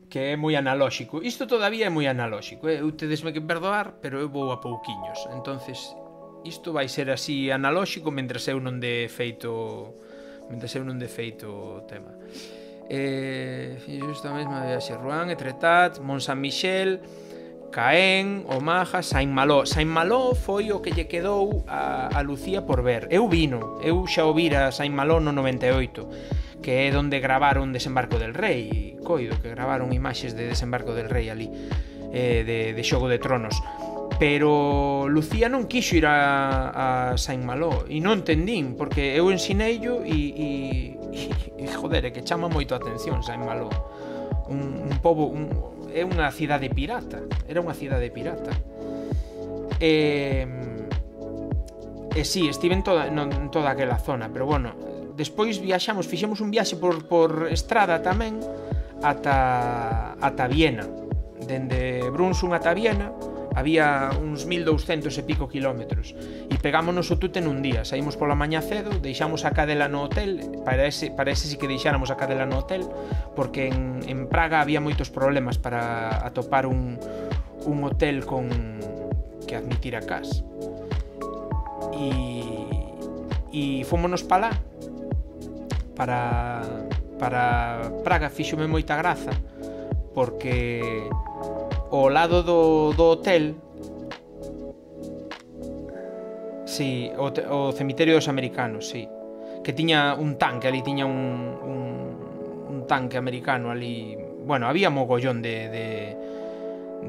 que é moi analóxico. Isto todavía é moi analóxico, eh? Eu tedesme que perdoar, pero eu vou a pouquiños. Entonces, isto vai ser así analóxico mentres eu non de feito mentres eu non de feito o tema. Eh, xusto a mesma viaxe, Rouen, Etretat, Mont Saint-Michel, Caen, Omaha, Saint-Malo. Saint-Malo foi o que lle quedou a, a Lucía por ver. Eu vino, eu xa o vira Saint-Malo no noventa e oito, que é onde gravaron Desembarco del Rei, coido que gravaron imaxes de Desembarco del Rei ali, eh, de, de Xogo de Tronos. Pero Lucía non quixo ir a, a Saint-Malo e non entendín, porque eu ensineillo e, e, e joder, é que chama moito a atención Saint-Malo. Un, un pobo, un, é unha cidade pirata, era unha cidade pirata. E, e sí, estive en toda, no, en toda aquela zona, pero bueno, despois viaxamos, fixemos un viaxe por, por estrada tamén ata, ata Viena. Dende Brunson ata Viena había uns mil douscentos e pico kilómetros e pegámonos o tute nun día. Saímos pola mañá cedo, deixamos a cadela no hotel, para ese, para ese sí que deixáramos a cadela no hotel, porque en, en Praga había moitos problemas para atopar un, un hotel con que admitira cas. E, e fomos pa lá, para, para Praga. Fíxome moita graza, porque ao lado do, do hotel, sí, o, o cemiterio dos americanos, sí, que tiña un tanque ali, tiña un, un, un tanque americano ali. Bueno, había mogollón de, de,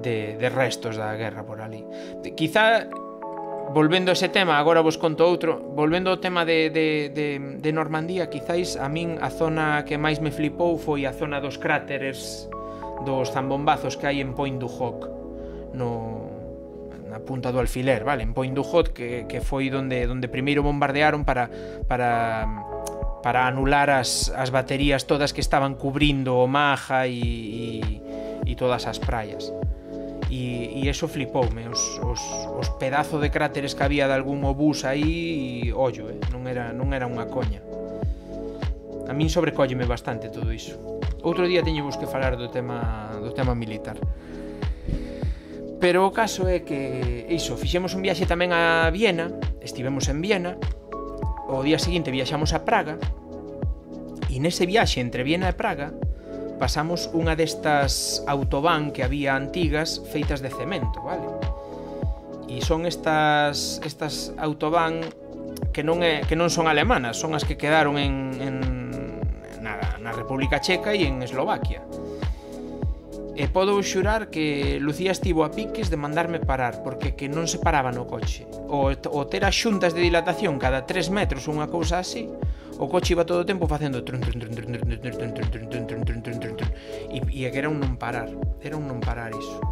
de, de restos da guerra por ali. Quizá, volvendo a ese tema, agora vos conto outro, volvendo ao tema de, de, de, de Normandía, quizáis a min a zona que máis me flipou foi a zona dos cráteres, dos zambombazos que hai en Point du Hoc, no, na punta do alfiler, vale? En Point du Hoc, que, que foi donde, donde primeiro bombardearon para, para, para anular as, as baterías todas que estaban cubrindo Omaha e, e, e todas as praias. E, e eso flipoume, os, os, os pedazos de cráteres que había de algún obús aí, e ollo, eh? non, era, non era unha coña. A min sobrecólleme bastante todo iso. Outro día teñemos que falar do tema, do tema militar. Pero o caso é que, iso, fixemos un viaxe tamén a Viena, estivemos en Viena, o día seguinte viaxamos a Praga, e nese viaxe entre Viena e Praga pasamos unha destas autobán que había antigas feitas de cemento, vale? E son estas estas autobán que non é que non son alemanas, son as que quedaron en, en na, na República Checa e en Eslovaquia. E podo xurar que Lucía estivo a piques de mandarme parar, porque que non se paraba no coche. O, o ter as xuntas de dilatación cada tres metros ou unha cousa así, o coche iba todo o tempo facendo e, e que era un non parar, era un non parar iso.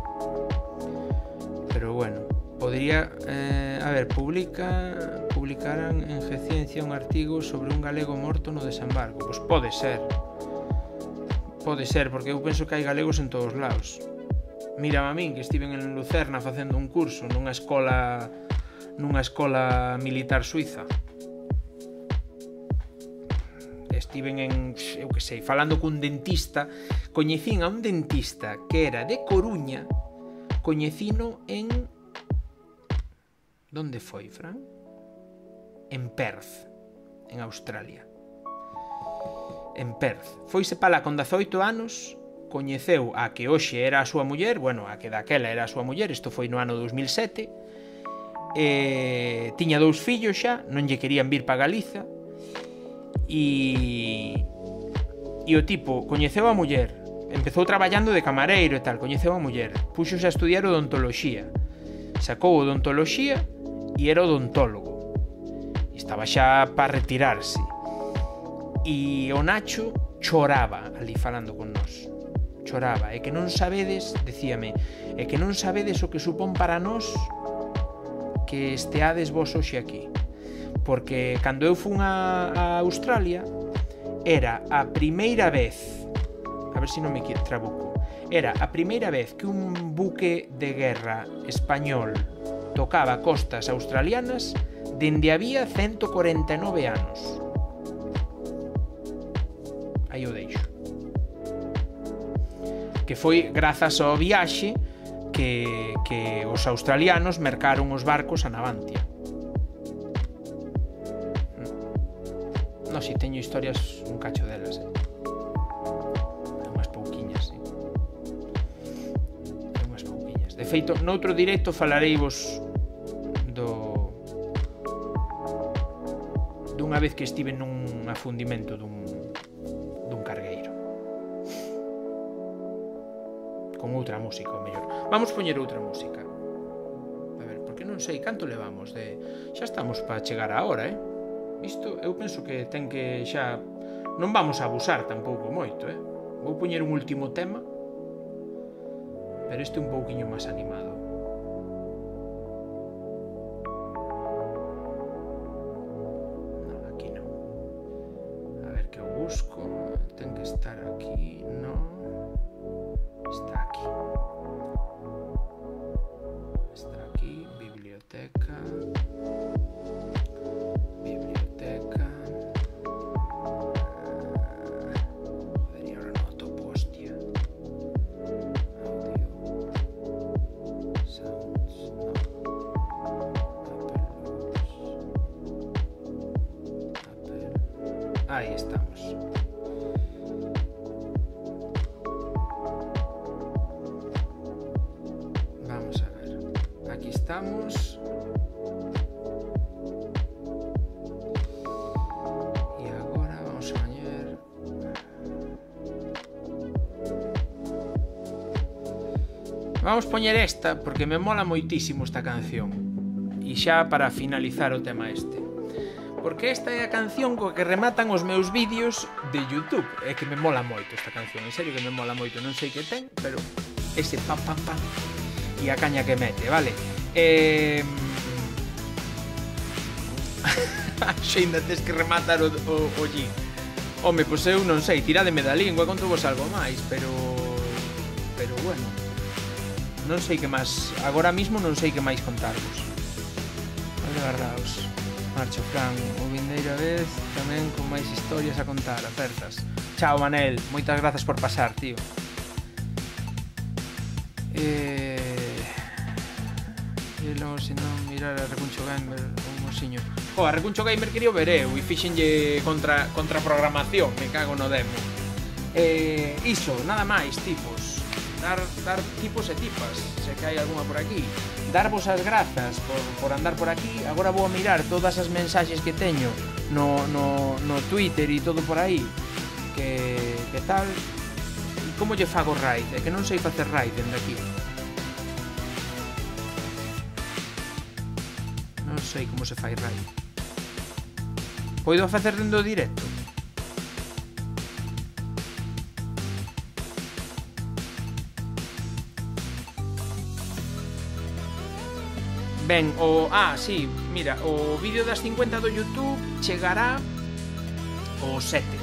Pero bueno, podría eh, a ver, publica publicaran en G-Ciencia un artigo sobre un galego morto no desembarco. Pois pode ser. Pode ser, porque eu penso que hai galegos en todos lados. Mírame a min, que estiven en Lucerna facendo un curso nunha escola nunha escola militar suiza. Estiven en, eu que sei, falando cun dentista. Coñecín a un dentista que era de Coruña. Coñecino en... Donde foi, Fran? En Perth, en Australia. En Perth. Foise para lá con dezaoito anos, coñeceu a que hoxe era a súa muller, bueno, a que daquela era a súa muller, isto foi no ano dos mil sete, e tiña dous fillos xa, non lle querían vir para Galiza, e e o tipo coñeceu a muller, empezou traballando de camareiro e tal, coñeceu a muller, puxose a estudiar odontoloxía, sacou odontoloxía e era odontólogo, estaba xa para retirarse, e o Nacho choraba ali falando con nós, choraba, e que non sabedes, decíame, e que non sabedes o que supón para nós que esteades vos hoxe aquí. Porque cando eu fun a, a Australia era a primeira vez, a ver se non me trabuco, era a primeira vez que un buque de guerra español tocaba costas australianas dende había ciento cuarenta e nove anos. Aí o deixo. Que foi grazas ao viaxe que, que os australianos mercaron os barcos a Navantia. No, si teño historias un cacho delas, eh. Unhas pouquiñas, eh. Unhas pouquiñas. De feito, noutro directo falareivos do dunha vez que estive nun afundimento dun dun cargueiro. Con outra música, o mellor. Vamos poñer outra música. A ver, porque non sei canto levamos de... Xa estamos para chegar a hora, eh. Isto eu penso que ten que xa... Non vamos a abusar tampouco moito, eh? Vou poñer un último tema, pero este un pouquiño máis animado. Non, aquí non. A ver que eu busco. Ten que estar aquí. Non. Está aquí. Está aquí. Biblioteca. Ahí estamos. Vamos a ver. Aquí estamos. Y ahora vamos a añadir. Vamos a poñer esta porque me mola moitísimo esta canción. E xa para finalizar o tema este. Porque esta é a canción coa que rematan os meus vídeos de YouTube. É que me mola moito esta canción, en serio que me mola moito. Non sei que ten, pero ese pam pam pam e a caña que mete, vale? Eh... Xeinda tes que rematar o, o, o G. Home, pois eu non sei, tirademe da lingua, conto vos algo máis, pero... Pero bueno, non sei que máis, agora mismo non sei que máis contarvos. Vale, guardaos. Marcho, Fran, o vindeira vez tamén con máis historias a contar, acertas. Chao, Manel, moitas grazas por pasar, tío. Eh... E logo, se non, mirar a Recuncho Gamer, un mosiño. Jo, a Recuncho Gamer quería ver eu e fixenlle contra, contra programación, me cago no demo. Eh, iso, nada máis, tipos. Dar, dar tipos e tipas, se que hai algunha por aquí. Darvos as grazas por, por andar por aquí. Agora vou a mirar todas as mensaxes que teño no, no, no Twitter e todo por aí. Que, que tal? E como lle fago raid? É que non sei facer raid dende aquí. Non sei como se fai raid. Poido facer dende o directo? Ben, o... Ah, sí, mira, o vídeo das cincuenta do YouTube chegará o sete.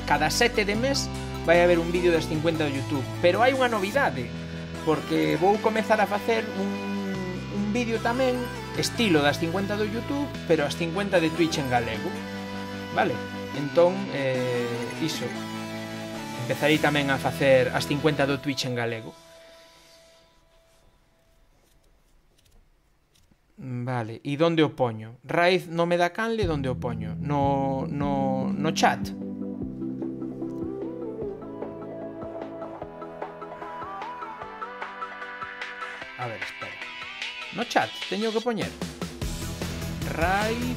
Cada sete de mes vai haber un vídeo das cincuenta do YouTube. Pero hai unha novidade, porque vou comezar a facer un, un vídeo tamén estilo das cincuenta do YouTube, pero as cincuenta de Twitch en galego. Vale? Entón, eh, iso. Empezarei tamén a facer as cincuenta do Twitch en galego. Vale, e donde o poño? Raíz no me da canle, donde o poño? No, no, no chat. A ver, espera. No chat, teño que poñer Raíz.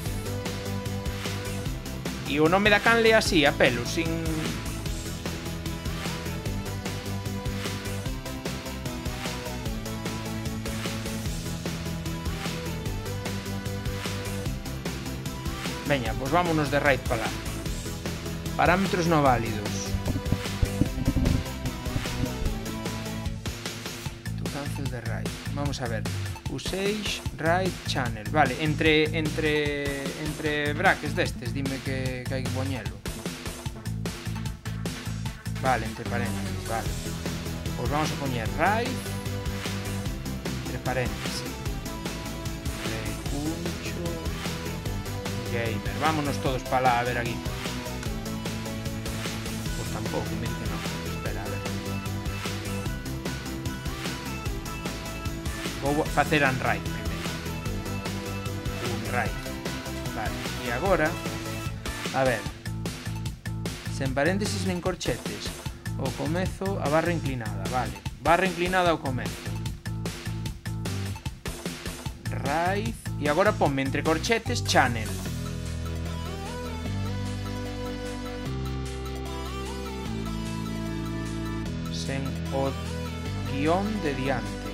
E o nome da canle así, a pelo, sin... Veña, pues vámonos de raid para lá. Parámetros no válidos. Tu cancel de raid. Vamos a ver. Usage raid channel. Vale, entre entre entre brackets destes, dime que, que hai que poñelo. Vale, entre paréntesis, vale. Pues vamos a poñer raid entre paréntesis. Recuncho Gamer. Vámonos todos para lá a ver aquí. Pues tampouco, me dice no. Espera, a ver. Vou facer un raid primeiro. Un raid. Vale. E agora, a ver. Sen paréntesis nen corchetes. O comezo a barra inclinada, vale. Barra inclinada ao comezo. Raid. E agora ponme entre corchetes channel. En o guión de diante.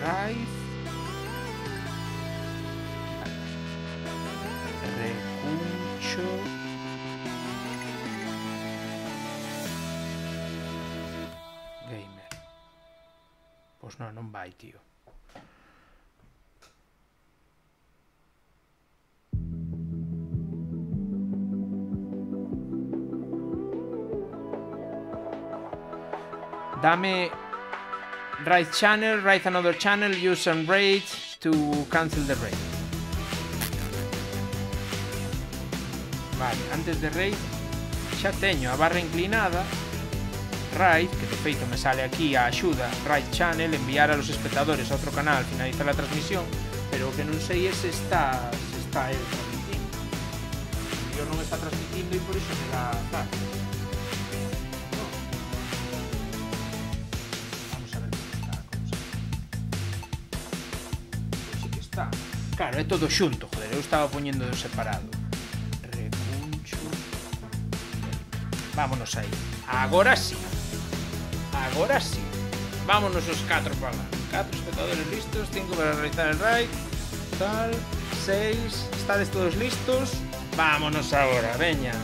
Raíz. Recuncho. Gamer. Pois non, non vai, tío. Dame raid channel, raid another channel, use some raid to cancel the raid. Vale, antes de raid xa teño a barra inclinada, raid, que de feito me sale aquí a axuda, raid channel, enviar a los espectadores a outro canal, finalizar la transmisión, pero o que non sei é se está, se está el transmitindo. Yo non está transmitindo e por iso me dá tal. Claro, é todo xunto, joder, eu estaba poñendo de separado. Recuncho. Vámonos aí. Agora sí. Agora sí. Vámonos os catro para lá. Catro espectadores listos, cinco para realizar el raid. Tal, seis. Estades todos listos. Vámonos agora, veña.